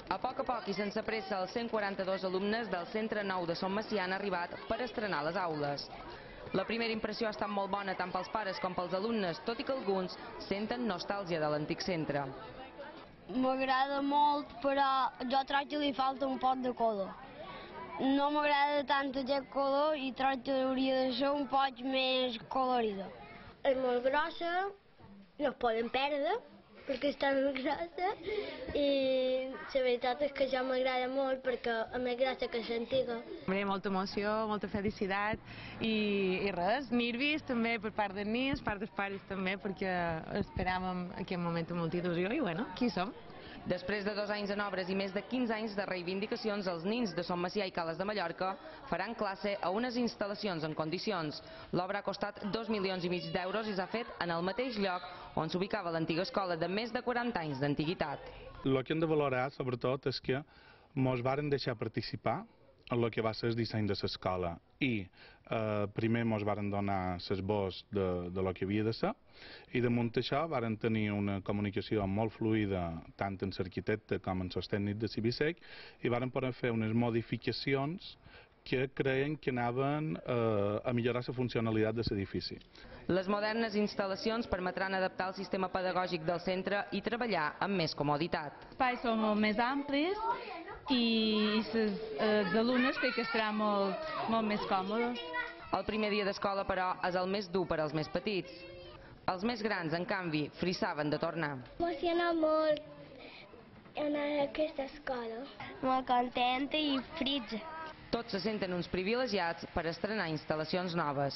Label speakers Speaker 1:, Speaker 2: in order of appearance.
Speaker 1: A poc i sense pressa, els 142 alumnes del Centre Nou de Son Macià han arribat per estrenar les aules. La primera impressió ha estat molt bona tant pels pares com pels alumnes, tot i que alguns senten nostàlgia de l'antic centre.
Speaker 2: M'agrada molt, però jo trobo que li falta un poc de color. No m'agrada tant aquest color i trobo que hauria de ser un poc més colorida. És molt grossa, no es poden perdre, perquè està molt grossa, i la veritat és que ja m'agrada molt perquè és més grossa que l'antiga.
Speaker 3: Molta emoció, molta felicitat i res, nervis també per part dels nens, per part dels pares també, perquè esperàvem aquest moment amb molta il·lusió i bueno, aquí som.
Speaker 1: Després de 2 anys en obres i més de 15 anys de reivindicacions, els nins de Son Macià i Cales de Mallorca faran classe a unes instal·lacions en condicions. L'obra ha costat 2,5 milions d'euros i s'ha fet en el mateix lloc on s'ubicava l'antiga escola de més de 40 anys d'antiguitat.
Speaker 4: El que hem de valorar, sobretot, és que ens varen deixar participar en el que va ser el disseny de l'escola i primer ens varen donar l'esbós de lo que havia de ser i damunt això varen tenir una comunicació molt fluida tant amb l'arquitecte com amb els tècnics de Cibisec i varen poder fer unes modificacions que creien que anaven a millorar la funcionalitat de l'edifici.
Speaker 1: Les modernes instal·lacions permetran adaptar el sistema pedagògic del centre i treballar amb més comoditat.
Speaker 5: Els espais són molt més amplis i els alumnes crec que estaran molt més còmodes.
Speaker 1: El primer dia d'escola, però, és el més dur per als més petits. Els més grans, en canvi, frissaven de tornar.
Speaker 2: M'emociona molt anar a aquesta escola. Molt contenta i frits.
Speaker 1: Tots se senten uns privilegiats per estrenar instal·lacions noves.